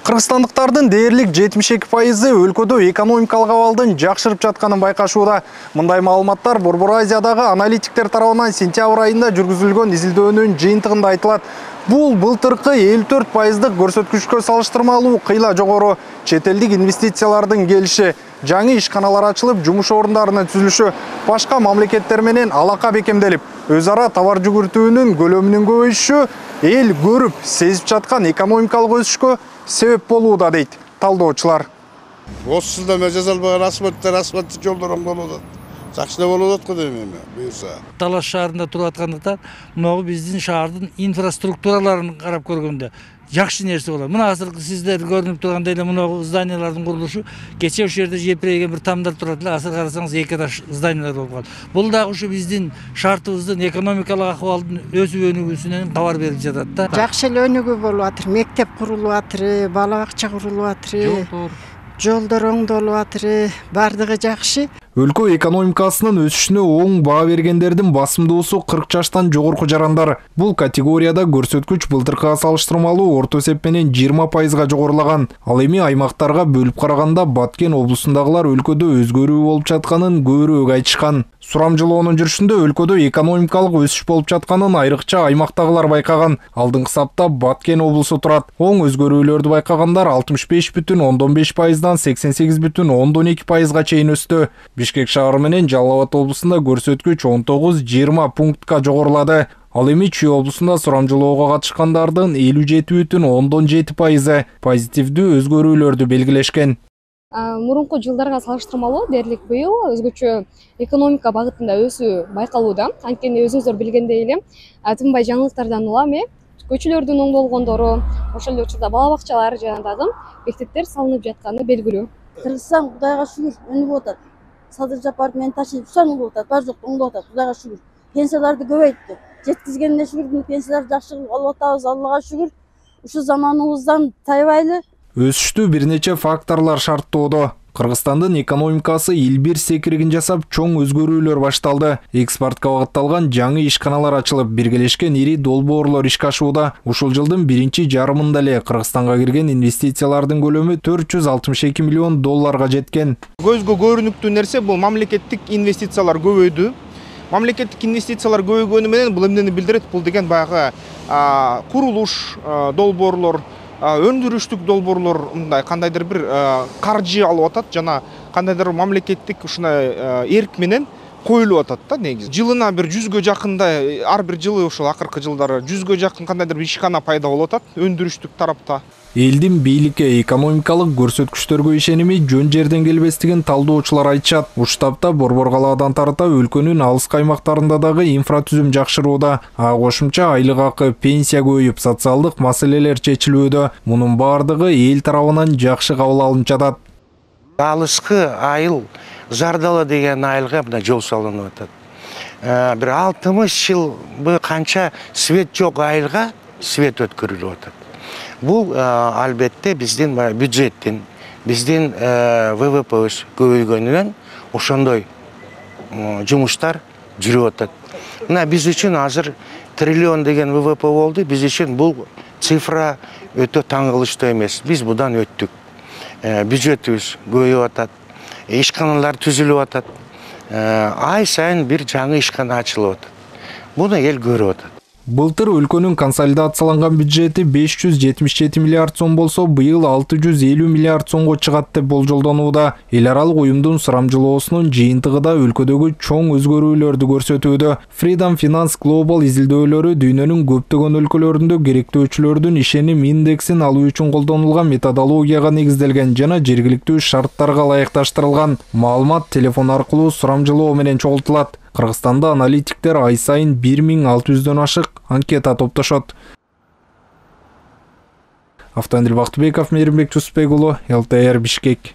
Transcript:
Кыргызстандыктардын дээрлик 72% өлкөдө экономикалык абалдын жакшырып жатканын байкашууда. Мындай маалыматтар Борбор Азиядагы аналитиктер тарабынан сентябрь айында жүргүзүлгөн изилдөөнүн жыйынтыгында айтылат. Бул былтыркы 54%дык көрсөткүчкө салыштырмалуу кыйла жогору. Чет элдик инвестициялардын келиши, жаңы ишканалар ачылып, жумуш орундарынын түзүлүшү башка мамлекеттер менен алака бекемделип, өз ара товар жүгүртүүнүн көлөмүнүн көбөйүшү эл көрүп, сезип жаткан экономикалык өсүшкө себеп болууда дейт талдоочулар. Осы жылда мен жаза албаган асфальттык жолдор болуп атат. Жакшы да болуп атат го дейм эми буюрса. Талаш шаарында туруп аткандыктан, мынагы биздин шаардын инфраструктураларын карап көргөндө жакшы нерсе болот. Мына азыркы сиздер көрүнүп тургандай эле мынагы зданиялардын курулушу кече ошол жерде жепирейген бир тамдар турат эле, азыр карасаңыз эки этаж зданиялар болуп калды. Бул дагы ушу биздин шартыбыздын экономикалык акыбалдын өсүп өнүгүүсүнөн кабар берип жатат да. Жакшы эле өнүгүү болуп атыр. Мектеп курулуп атыр, бала бакча курулуп атыр. Жолдор оңдолуп атыр, бардыгы жакшы. Өлкө экономикасынын өсүшүнө оң баа бергендердин басымдуусу 40 жаштан жогорку жарандар. Бул категорияда көрсөткүч былтыркыга салыштырмалуу орто эсеп менен 20%га жогорулаган. Ал эми аймактарга бөлүп караганда Баткен облусундагылар өлкөдө өзгөрүү болуп жатканын көбүрөөк айтышкан. Сурамжылоонун жүрүшүндө өлкөдө экономикалык өсүш болуп жатканын айрыкча аймактагылар байкаган. Алдыңкы сапта Баткен облусу турат. Оң өзгөрүүлөрдү байкагандар 65,5%дан 88,2%га чейин өстү. Бишкек шаары менен Жалал Абад облусунда көрсөткүч 19-20 пунктка жогорулады. Ал эми Чүй облусунда сурамжылоого катышкандардын 57,7% позитивдүү өзгөрүүлөрдү белгилешкен. Мурунку жылдарга салыштырмалуу дээрлик быйыл өзгөчө экономика багытында өсүү байкалууда. Анткени өзүңүздөр билгендей эле, тынбай жаңылыктардан улам көчөлөрдүн оңдолгондору, ошол эле учурда бала бакчалар жана дагы мектептер салынып жатканы белгилүү. Кыргызстан Кудайга шүгүр өнүгүп атат. Садыр Жапаров менен ташип өңдүп атат, бар жок оңдоп атат. Кудайга шүгүр. Пенсияларды көбөйттү. Жеткизгенине шүгүр, пенсияларды жакшы алып атабыз, Аллага шүгүр. Ушу заманыбыздан тайбайлы. Өсүштү бир нече факторлор шарттоодо. Кыргызстандын экономикасы илбир секиригин жасап, чоң өзгөрүүлөр башталды. Экспортко багытталган жаңы ишканалар ачылып, биргелешкен ири долбоорлор ишке ашууда. Ушул жылдын биринчи жарымында эле Кыргызстанга кирген инвестициялардын көлөмү $462 миллион жеткен. Көзгө көрүнүктүү нерсе бул мамлекеттик инвестициялар көбөйдү. Мамлекеттик инвестициялар көбөйгөнү менен бул эмнени билдирет? Бул деген баягы курулуш долбоорлор, өндүрүштүк долбоорлор мындай кандайдыр бир каржы алып атат жана кандайдыр мамлекеттик ушундай эрк менен коюлуп атат да негизи. Жылына бир 100гө жакындай, ар бир жылы ушул акыркы жылдары 100гө жакын кандайдыр бир ишкана пайда болуп атат өндүрүштүк тарапта. Элдин бийликке экономикалык көрсөткүчтөргө ишеними жөн жерден келбестигин талдоочулар айтышат. Ушул тапта Борбор калаадан тарта өлкөнүн алыскы аймактарында дагы инфратүзүм жакшырууда. Кошумча айлык акы, пенсия көбөйүп, социалдык маселелер чечилүүдө. Мунун бардыгы эл тарабынан жакшы кабыл алынып жатат. Алыскы айыл Жардала деген айылга мына жол салынып атат. Бир 60 жыл канча свет жок айылга свет өткөрүлүп атат. Бул албетте биздин бюджеттин, биздин ВВП көбөйгөнүнөн ошондой жумуштар жүрүп атат. Мына биз үчүн азыр триллион деген ВВП болду. Биз үчүн бул цифра өтө таң кылыштуу эмес. Биз будан өттүк. Бюджетибиз көбөйүп атат. Ишканалар түзүлүп атат. Ай сайын бир жаңы ишкана ачылып атат. Буну эл көрүп атат. Былтыр өлкөнүн консолидацияланган бюджети 577 миллиард сом болсо, быйыл 650 миллиард сомго чыгат деп болжолдонууда. Эл аралык уюмдун сурамжылоосунун жыйынтыгы да өлкөдөгү чоң өзгөрүүлөрдү көрсөтүүдө. Freedom Finance Global изилдөөлөрү дүйнөнүн көптөгөн өлкөлөрүндө керектөөчүлөрдүн ишеним индексин алуу үчүн колдонулган методологияга негизделген жана жергиликтүү шарттарга ылайыкташтырылган. Маалымат телефон аркылуу сурамжылоо менен чогултулат. Кыргызстанда аналитиктер ай сайын 1600дөн ашык анкета топтошот. Автандил Бактыбеков, Мейримбек Жусупбек уулу, ЛТР Бишкек.